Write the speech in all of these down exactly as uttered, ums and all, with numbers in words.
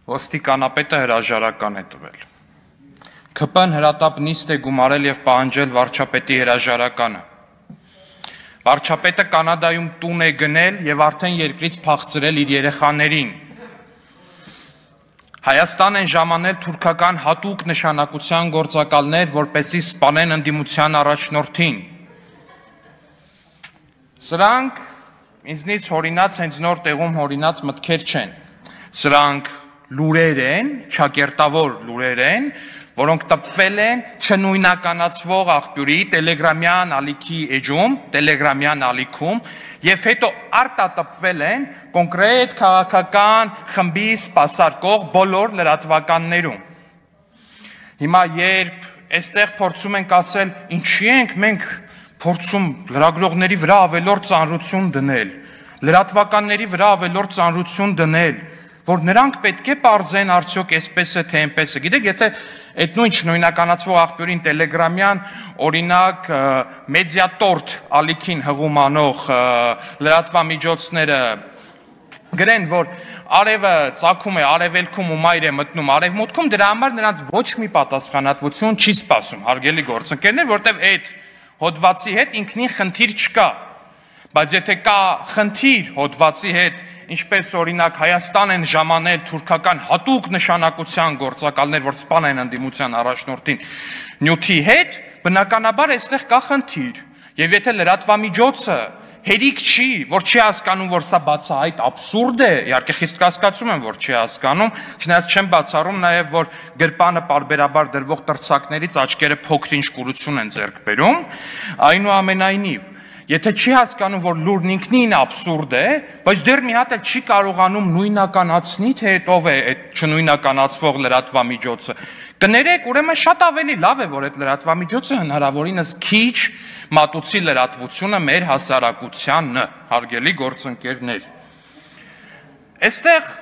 ոստիկանապետը հրաժարական է տվել։ K P N հրատապ նիստ է գումարել եւ պահանջել վարչապետի հրաժարականը։ Վարչապետը Կանադայում տուն է գնել եւ արդեն երկրից փախցրել իր երեխաներին։ Հայաստան են ժամանել թուրքական հատուկ նշանակության գործակալներ, որպեսզի սպանեն ընդդիմության առաջնորդին։ Սրանք ինձնից հորինած հենց նոր տեղում հորինած մտքեր չեն։ Սրանք լուրեր են, ճակերտավոր լուրեր են, որոնք տպվել են չնույնականացվող աղբյուրի տելեգրամյան ալիքի էջում, տելեգրամյան ալիքում, եւ հետո արտատպվել են կոնկրետ քաղաքական խմբի սպասարկող բոլոր լրատվականներում։ Հիմա երբ այստեղ փորձում ենք ասել, ինչի ենք մենք փորձում լրագրողների վրա ավելորդ ծանրություն դնել, լրատվականների վրա ավելորդ ծանրություն դնել, որ նրանք պետք է պարզեն արդյոք այսպես է թե այնպես է։ Գիտեք, եթե այդ նույն չնույնականացվող աղբյուրին տելեգրամյան օրինակ մեդիատորտ ալիքին հղում անող լրատվամիջոցները գրեն, որ արևը ծագում է արևելքում ու մայր է մտնում արևմուտքում, դրա համար նրանց ոչ մի պատասխանատվություն չի սպասում, հարգելի գործընկերներ, որտեղ այդ հոդվածի հետ ինքնին խնդիր չկա, բայց եթե կա խնդիր հոդվածի հետ, ինչպես օրինակ Հայաստան են ժամանել թուրքական հատուկ նշանակության գործակալներ, որ սպանեն ընդդիմության առաջնորդին նյութի հետ, բնականաբար այստեղ կա խնդիր։ Եվ եթե լրատվամիջոցը հերիք չի, որ չի հասկանում, որ սա բացահայտ աբսուրդ է, իհարկե խիստ կասկածում եմ, որ չի հասկանում, չնայած չեմ բացառում նաև, որ գրպանը պարբերաբար դրվող տրցակներից աչքերը փոքր-ինչ կուրություն են ձեռք բերում, այնուամենայնիվ, եթե չի հասկանում, որ լուրն ինքնին աբսուրդ է, բայց դեռ մի հատ էլ չի կարողանում նույնականացնի, թե ով է այդ չնույնականացվող լրատվամիջոցը, կներեք, ուրեմն շատ ավելի լավ է, որ այդ լրատվամիջոցը հնարավորինս քիչ մատուցի լրատվությունը մեր հասարակությանը, հարգելի գործընկերներ։ Այստեղ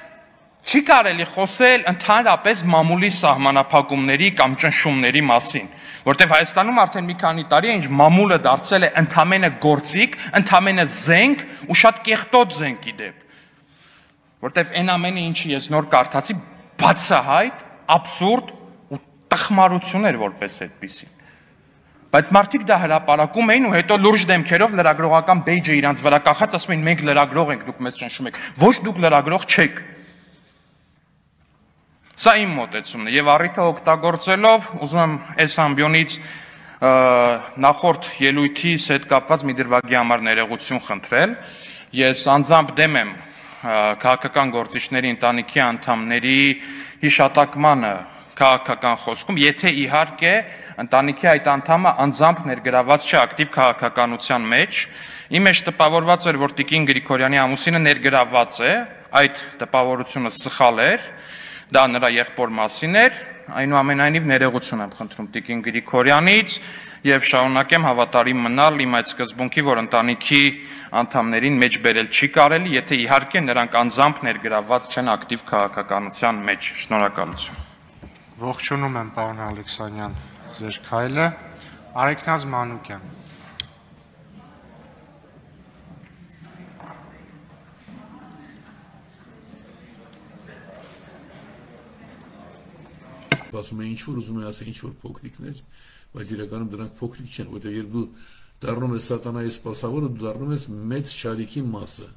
չի կարելի խոսել ընդհանրապես մամուլի սահմանափակումների կամ ճնշումների մասին, որտեղ Հայաստանում արդեն մի քանի տարի է, ինչ մամուլը դարձել է ընդամենը գործիք, ընդամենը զենք ու շատ կեղտոտ զենքի դեպ, որտեղ այն ամենը, ինչը ես նոր կարդացի, բացահայտ, աբսուրդ ու տխմարություն էր որպես այդպիսին։ Բայց մարդիկ դա հրապարակում էին ու հետո լուրջ դեմքերով լրագրողական բեյջը իրանց վրա կախած ասում էին մենք լրագրող ենք, դուք մեզ ճնշում եք։ Ոչ, դուք լրագրող չեք։ Սա իմ մոտեցումն է եւ առիթը օգտագործելով ուզում եմ այս ամբիոնից նախորդ ելույթիս հետ կապված մի դրվագի համար ներողություն խնդրել։ Ես անձամբ դեմ եմ քաղաքական գործիչների ընտանիքի անդամների հիշատակմանը քաղաքական խոսքում, եթե իհարկե ընտանիքի այդ անդամը անձամբ ներգրաված չէ ակտիվ քաղաքականության մեջ։ Իմ մեջ տպավորված էր, որ Տիկին Գրիգորյանի ամուսինը ներգրաված է, այդ տպավորությունը սխալ էր, դա նրա եղբոր մասին էր, այնուամենայնիվ ներողություն եմ խնդրում Տիկին Գրիգորյանից եւ շարունակեմ հավատարիմ մնալ իմ այդ սկզբունքի, որ ընտանիքի անդամներին մեջ բերել չի կարելի, եթե իհարկե նրանք անձամբ ներգրաված չեն ակտիվ քաղաքականության մեջ։ Շնորհակալություն։ Ողջունում եմ, պարոն Ալեքսանյան, ձեր քայլը, Արեգնազ Մանուկյան։ Ասում է ինչ-որ ուզում է ասել ինչ-որ փոքրիկներ, բայց իրականում դրանք փոքրիկ չեն, որտեղ երբ դու դառնում ես սատանայի սպասավորը, դու դառնում ես մեծ չարիքի մասը։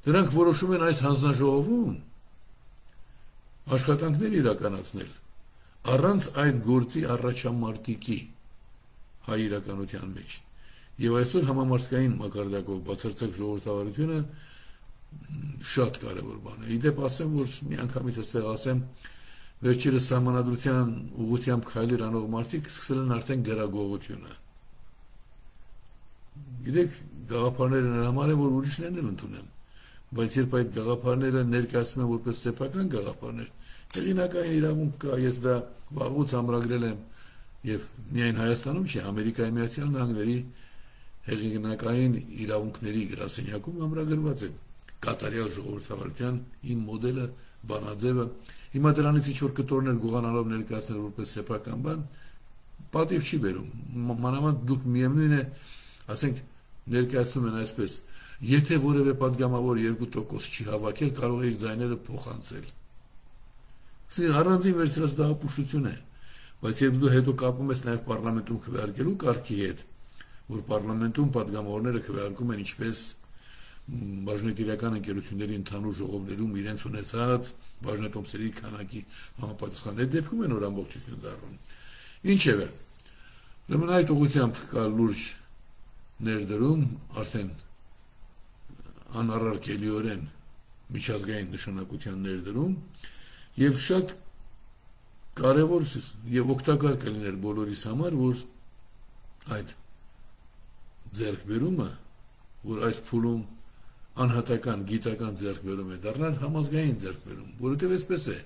Դրանք որոշում են այս հանձնաժողովում աշխատանքներ իրականացնել առանց այդ գործի առաջամարտիկի հայ իրականության մեջ։ Եվ այսօր համամարտկային մակարդակով բացարձակ ժողովրդավարությունը շատ կարևոր բան է։ Իդեպ ասեմ, որ մի անգամից այստեղ ասեմ, վերջերս սահմանադրության ուղղությամբ քայլեր անող մարդիկ սկսել են արդեն գրագողությունը։ Գիտեք, գաղափարները նրա համար է, որ ուրիշներն էլ ընդունեն, բայց երբ այդ գաղափարները ներկայացնում են որպես սեփական գաղափարներ, հեղինակային իրավունք կա, ես դա վաղուց ամրագրել եմ եւ միայն Հայաստանում չի, Ամերիկայի Միացյալ Նահանգների հեղինակային իրավունքների գրասենյակում ամրագրված է կատարյալ ժողովրդավարության իմ մոդելը, բանաձևը։ Հիմա դրանից ինչ որ կտորներ գողանալով ներկայացնել որպես սեփական բան, պատիվ չի բերում։ Մանավանդ դուք միևնույն է, ասենք, ներկայացնում են այսպես, եթե որևէ պատգամավոր երկու տոկոս չի հավաքել, կարող է իր ձայները փոխանցել։ Առանձին վերցրած դա ապուշություն է, բայց երբ դու հետո կապում ես նաև պարլամենտում քվեարկելու կարգի հետ, որ պարլամենտում պատգամավորները քվեարկում են ինչպես բաժնետիրական ընկերությունների ընդհանուր ժողովներում իրենց ունեցած բաժնետոմսերի քանակի համապատասխան այդ դեպքում են որ ամբողջություն դառնում։ Ինչևէ, ուրեմն այդ ուղղությամբ կա լուրջ ներդրում, արդեն անառարկելիորեն միջազգային նշանակության ներդրում եւ շատ կարևոր եւ օգտակար կլիներ բոլորիս համար, որ այդ ձեռքբերումը, որ այս փուլում անհատական գիտական ձեռքբերում է դառնալ համազգային ձեռքբերում, որովհետեւ այսպես է,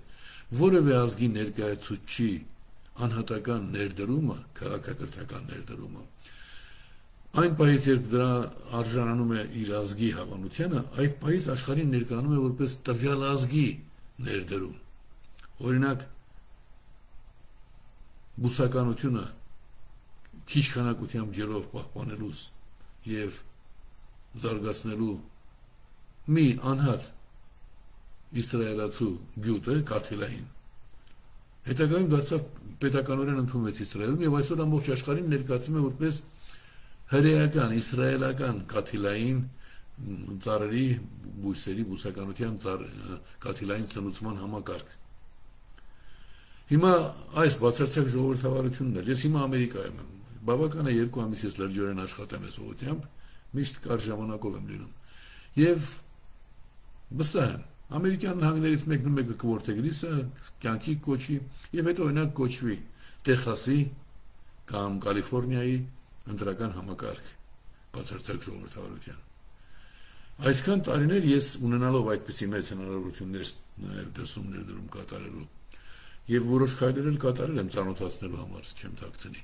որևէ ազգի ներկայացուցչի անհատական ներդրումը, քաղաքակրթական ներդրումը, այն պահից, երբ դրա արժանանում է իր ազգի հավանությանը, այդ պահից աշխարհին ներկայանում է որպես տվյալ ազգի ներդրում։ Օրինակ, բուսականությունը քիչ քանակությամբ ջրով պահպանելուց եւ զարգացնելու մի անհատ իսրայելացու գյուտը կաթիլային հետագայում դարձավ պետականորեն ընդունվեց Իսրայելում եւ այսօր ամբողջ աշխարհին ներկայացում է որպես հրեական, իսրայելական կաթիլային ծառերի, բույսերի, բուսականության կաթիլային ծնուցման համակարգ։ Հիմա այս բացարձակ ժողովրդավարությունն էլ, ես հիմա Ամերիկայում եմ, բավական է երկու ամիս ես լրջորեն աշխատեմ այս ուղղությամբ, միշտ կար ժամանակով եմ լինում։ Եվ վստահ եմ, Ամերիկյան նահանգներից մեկն ու մեկը կորթեգրի սա կյանքի կոչի եւ հետո օրինակ կոչվի Տեխասի կամ Կալիֆոռնիայի ընտրական համակարգ բացարձակ ժողովրդավարության։ Այսքան տարիներ ես ունենալով այդպիսի մեծ հնարավորություններ նաեւ դրսում ներդրում կատարելու եւ որոշ քայլեր էլ կատարել եմ ծանոթացնելու համար, չեմ թաքցնի։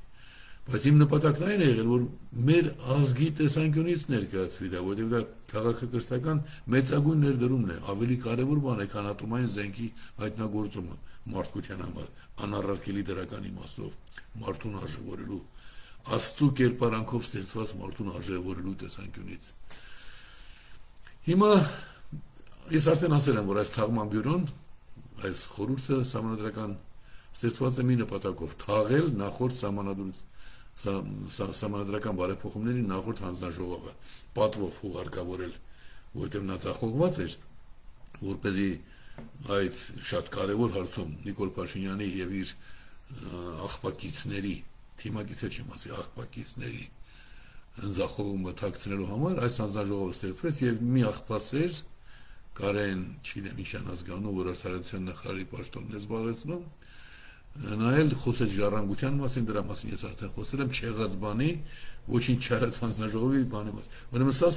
Բայց իմ նպատակն այն է եղել, որ մեր ազգի տեսանկյունից ներկայացվի դա, որովհետև դա քաղաքակրթական մեծագույն ներդրումն է, ավելի կարևոր բան է, քան ատոմային զենքի հայտնագործումը մարդկության համար, անառարկելի դրական իմաստով, մարդուն արժևորելու, Աստծու կերպարանքով ստեղծված մարդուն արժևորելու տեսանկյունից։ Հիմա ես արդեն ասել եմ, որ այս թաղման բյուրոն, այս խորհուրդը սահմանադրական ստեղծված է մի նպատակով, թաղել նախորդ սահմանադրական բարեփոխումների նախորդ հանձնաժողովը, պատվով ուղարկավորել, որտեղ նա ծախողված էր, որպեսզի այդ շատ կարևոր հարցում Նիկոլ Փաշինյանի եւ իր աղբակիցների, թիմակիցը չեմ ասի, աղբակիցների ընձախողումը թաքցնելու համար այս հանձնաժողովը ստեղծվեց եւ մի աղբասեր Կարեն, չգիտեմ ինչ անազգանու, որ արդարացիան նախարարի պաշտոնն է զբաղեցնում, նա էլ խոսեց ժառանգության մասին, դրա մասին ես արդեն խոսել եմ, չեղած բանի, ոչինչ չարած հանձնաժողովի բանի մասին։ Ուրեմն սա